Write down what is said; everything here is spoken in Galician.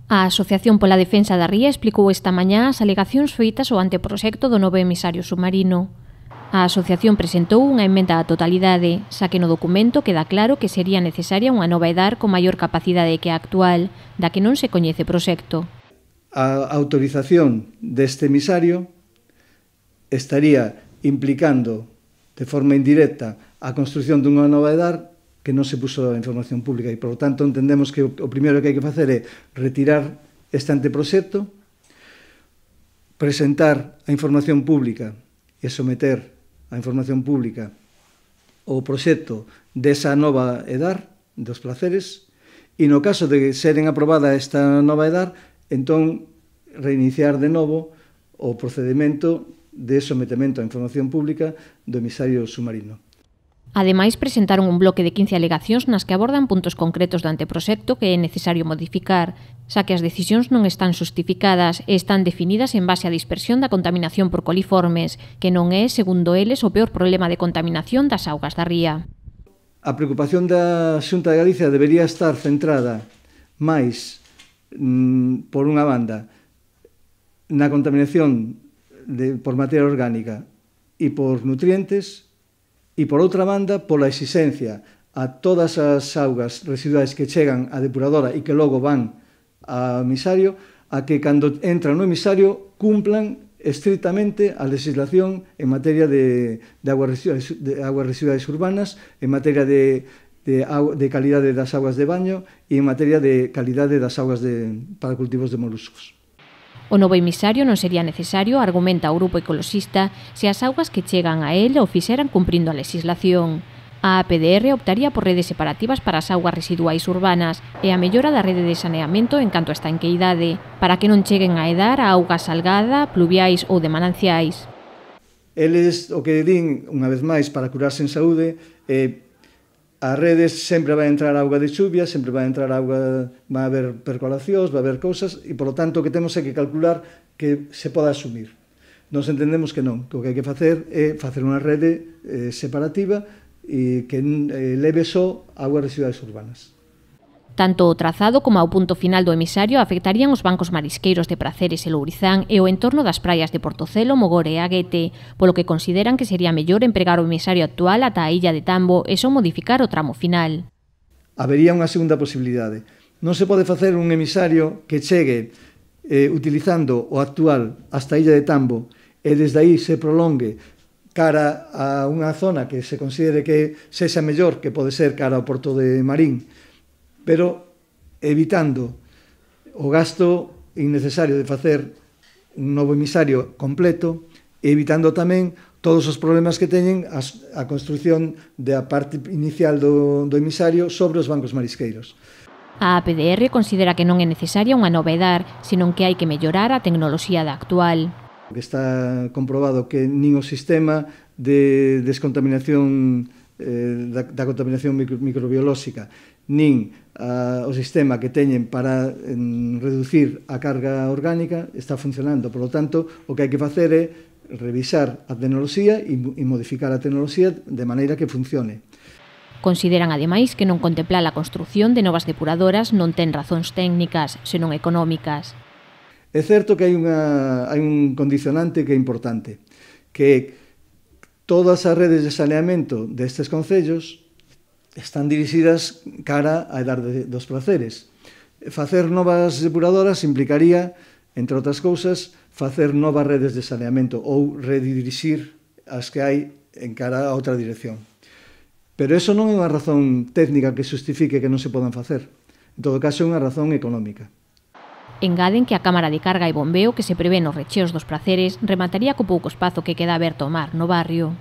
A Asociación pola Defensa da Ría explicou esta mañá as alegacións feitas ao anteproxecto do novo emisario submarino. A asociación presentou unha emenda á totalidade, xa que no documento queda claro que sería necesaria unha nova EDAR con maior capacidade que a actual, da que non se coñece proxecto. A autorización deste emisario estaría implicando de forma indirecta a construción dunha nova EDAR que non se puso a información pública e, por lo tanto, entendemos que o primeiro que hai que facer é retirar este anteproxecto, presentar a información pública e someter a información pública o proxecto desa nova EDAR, dos placeres, e no caso de seren aprobada esta nova EDAR, entón reiniciar de novo o procedimento de sometemento á información pública do emisario submarino. Ademais, presentaron un bloque de 15 alegacións nas que abordan puntos concretos do anteproxecto que é necesario modificar, xa que as decisións non están xustificadas e están definidas en base á dispersión da contaminación por coliformes, que non é, segundo eles, o peor problema de contaminación das augas da ría. A preocupación da Xunta de Galicia debería estar centrada máis, por unha banda, na contaminación por materia orgánica e por nutrientes, e, por outra banda, pola exigencia a todas as augas residuais que chegan á depuradora e que logo van ao emisario, a que, cando entran no emisario, cumplan estrictamente a legislación en materia de aguas residuais urbanas, en materia de calidade das augas de baño e en materia de calidade das augas para cultivos de moluscos. O novo emisario non sería necesario, argumenta o grupo ecoloxista, se as augas que chegan a él o fixeran cumprindo a legislación. A APDR optaría por redes separativas para as augas residuais urbanas e a mellora da rede de saneamento en canto a estanqueidade, para que non cheguen a edar a auga salgada, pluviais ou de mananciais. Eles o que din, unha vez máis, para curarse en saúde, as redes sempre vai entrar auga de chuvia, sempre vai entrar auga, vai haber percolacións, vai haber cousas, e, polo tanto, o que temos é que calcular que se poda asumir. Nos entendemos que non, que o que hai que facer é facer unha rede separativa e que leve só augas residuais urbanas. Tanto o trazado como o punto final do emisario afectarían os bancos marisqueiros de Praceres e Lourizán e o entorno das praias de Portocelo, Mogore e Aguete, polo que consideran que sería mellor empregar o emisario actual ata a illa de Tambo e só modificar o tramo final. Habería unha segunda posibilidade. Non se pode facer un emisario que chegue utilizando o actual hasta a illa de Tambo e desde aí se prolongue cara a unha zona que se considere que sexa mellor, que pode ser cara ao porto de Marín, pero evitando o gasto innecesario de facer un novo emisario completo e evitando tamén todos os problemas que teñen a construción da parte inicial do emisario sobre os bancos marisqueiros. A APDR considera que non é necesaria unha nova EDAR, senón que hai que mellorar a tecnoloxía da actual. Está comprobado que nin o sistema de descontaminación da contaminación microbiolóxica nin o sistema que teñen para reducir a carga orgánica está funcionando. Por lo tanto, o que hai que facer é revisar a tecnoloxía e modificar a tecnoloxía de maneira que funcione. Consideran, ademais, que non contemplar a construción de novas depuradoras non ten razóns técnicas, senón económicas. É certo que hai un condicionante que é importante, que todas as redes de saneamento destes concellos están dirixidas cara a edar dos Praceres. Facer novas depuradoras implicaría, entre outras cousas, facer novas redes de saneamento ou redirixir as que hai en cara a outra dirección. Pero eso non é unha razón técnica que justifique que non se podan facer. En todo caso, é unha razón económica. Engaden que a cámara de carga e bombeo que se prevé nos recheos dos Praceres remataría co pouco espazo que queda aberto ao mar no barrio.